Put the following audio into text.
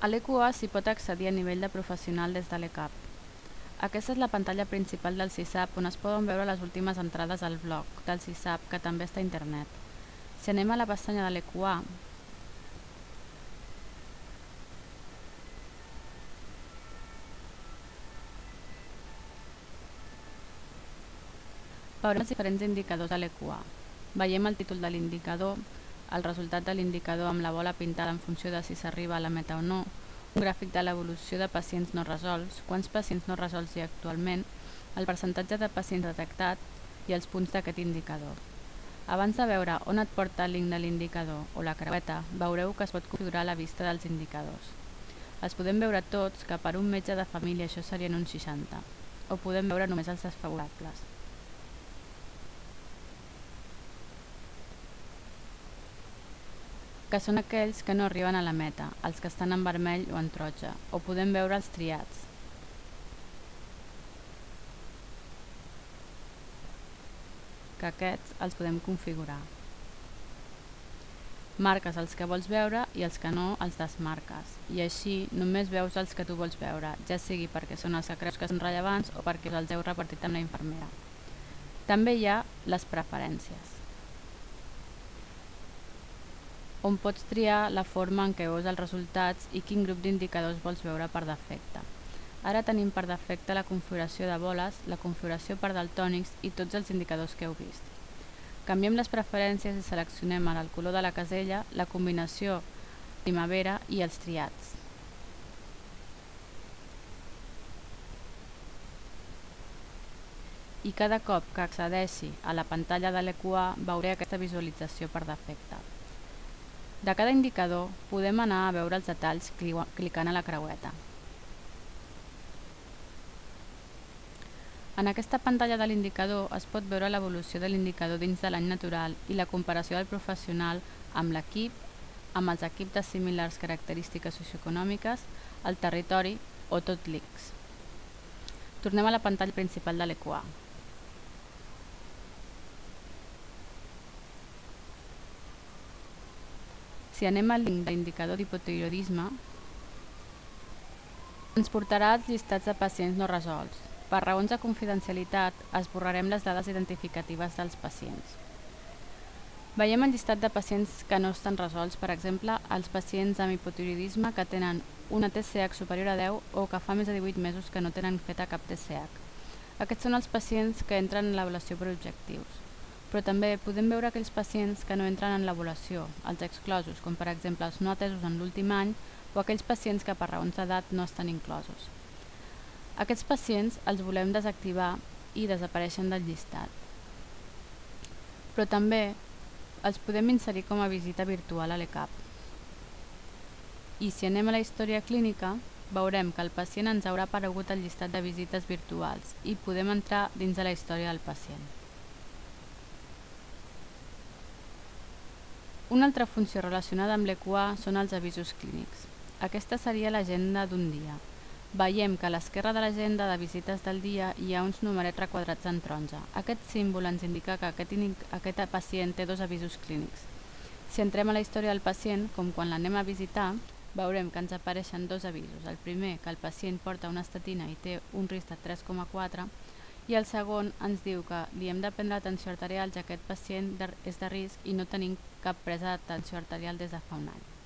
A l'EQA s'hi pot accedir a nivell de professional des de l'ECAP. Aquesta és la pantalla principal del CISAP, on es poden veure les últimes entrades al blog del CISAP, que també està a internet. Si anem a la pestanya de l'EQA, veurem els diferents indicadors de l'EQA. Veiem el títol de l'indicador, el resultat de l'indicador amb la bola pintada en funció de si s'arriba a la meta o no, un gràfic de l'evolució de pacients no resolts, quants pacients no resolts hi ha actualment, el percentatge de pacients detectats i els punts d'aquest indicador. Abans de veure on et porta el link de l'indicador o la creueta, veureu que es pot configurar la vista dels indicadors. Els podem veure tots, que per un metge de família això serien uns 60, o podem veure només els desfavorables. Que són aquells que no arriben a la meta, els que estan en vermell o en taronja, o podem veure els triats. Que aquests els podem configurar. Marques els que vols veure i els que no els desmarques, i així només veus els que tu vols veure, ja sigui perquè són els que creus que són rellevants o perquè els heu repartit amb la infermera. També hi ha les preferències, on pots triar la forma en què veus els resultats i quin grup d'indicadors vols veure per defecte. Ara tenim per defecte la configuració de boles, la configuració per daltònics i tots els indicadors que heu vist. Canviem les preferències i seleccionem ara el color de la casella, la combinació primavera i els triats. I cada cop que accedeixi a la pantalla de l'EQA veuré aquesta visualització per defecte. De cada indicador podem anar a veure els detalls clicant a la creueta. En aquesta pantalla de l'indicador es pot veure l'evolució de l'indicador dins de l'any natural i la comparació del professional amb l'equip, amb els equips de similars característiques socioeconòmiques, el territori o tot l'ICS. Tornem a la pantalla principal de l'EQA. Si anem al link d'indicador d'hipotiroïdisme, ens portarà als llistats de pacients no resolts. Per raons de confidencialitat, esborrarem les dades identificatives dels pacients. Veiem el llistat de pacients que no estan resolts, per exemple, els pacients amb hipotiroïdisme que tenen una TSH superior a 10 o que fa més de 18 mesos que no tenen feta cap TSH. Aquests són els pacients que entren en l'avaluació per objectius. Però també podem veure aquells pacients que no entren en l'avaluació, els exclosos, com per exemple els no atesos en l'últim any o aquells pacients que per raons d'edat no estan inclosos. Aquests pacients els volem desactivar i desapareixen del llistat. Però també els podem inserir com a visita virtual a l'ECAP. I si anem a la història clínica, veurem que el pacient ens haurà aparegut al llistat de visites virtuals i podem entrar dins de la història del pacient. Una altra funció relacionada amb l'EQA són els avisos clínics. Aquesta seria l'agenda d'un dia. Veiem que a l'esquerra de l'agenda de visites del dia hi ha uns numerets requadrats en taronja. Aquest símbol ens indica que aquest pacient té 2 avisos clínics. Si entrem a la història del pacient, com quan l'anem a visitar, veurem que ens apareixen 2 avisos. El primer, que el pacient porta una estatina i té un risc de 3,4, i el segon ens diu que li hem de prendre atenció arterial ja que aquest pacient és de risc i no tenim cap presa d'atenció arterial des de fa un any.